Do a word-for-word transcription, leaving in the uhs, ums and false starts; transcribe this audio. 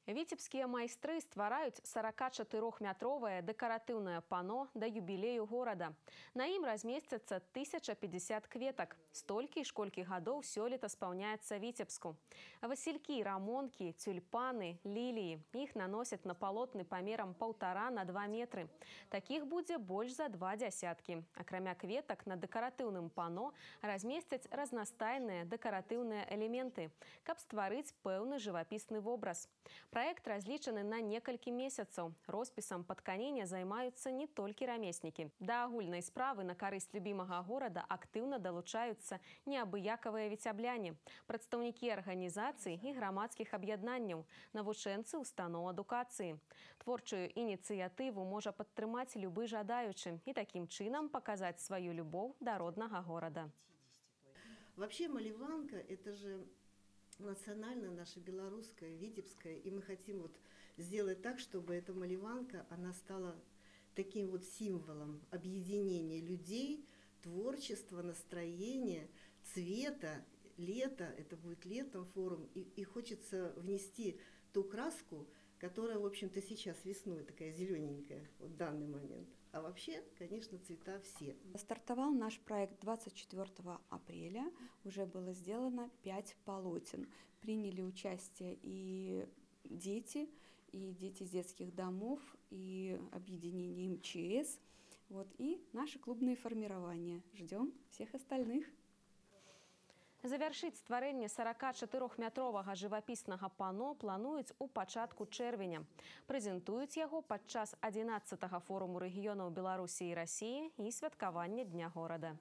Віцебскія майстры ствараюць сорокачатырохметровае дэкаратыўнае пано да юбілею горада. На ім размесцяцца тысяча пятьдесят кветак. Столькі, школькі гадоў сёлета спаўняецца Віцебску. Васількі, рамонкі, тюльпаны, ліліі. Іх наносяць на палотны памерам паўтара на два метры. Такіх будзе больш за два дзясяткі. Акрамя кветак на дэкаратыўным пано размесцяць разнастайныя дэкаратыўныя элементы, каб стварыць пэўны жывапісны вобраз. Праект разлічаны на некалькі месяцаў. Роспісам па тканіне займаюцца не толькі рамеснікі. Да агульнай справы на карысць любімага горада актыўна далучаюцца неабыякавыя віцябляне, прадстаўнікі арганізацый і грамадскіх аб'яднанняў, навучэнцы устаноў адукацыі. Творчую ініцыятыву можа падтрымаць любы жадаючы і такім чынам паказаць сваю любоў да роднага горада. Вообще малеванка – это же национальная наша белорусская, витебская, и мы хотим вот сделать так, чтобы эта малеванка, она стала таким вот символом объединения людей, творчества, настроения, цвета, лета, это будет летом форум, и, и хочется внести ту краску, которая, в общем-то, сейчас весной такая зелененькая, в данный момент. А вообще, конечно, цвета все. Стартовал наш проект двадцать четвёртого апреля. Уже было сделано пять полотен. Приняли участие и дети, и дети из детских домов, и объединение эм че эс, вот, и наши клубные формирования. Ждем всех остальных. Завяршыць стварэнне сорокачатырохметровага жывапіснага пано плануюць у пачатку чэрвеня. Прэзентуюць яго падчас адзінаццатага форуму рэгіёнаў Беларусі і Расіі і святкавання Дня горада.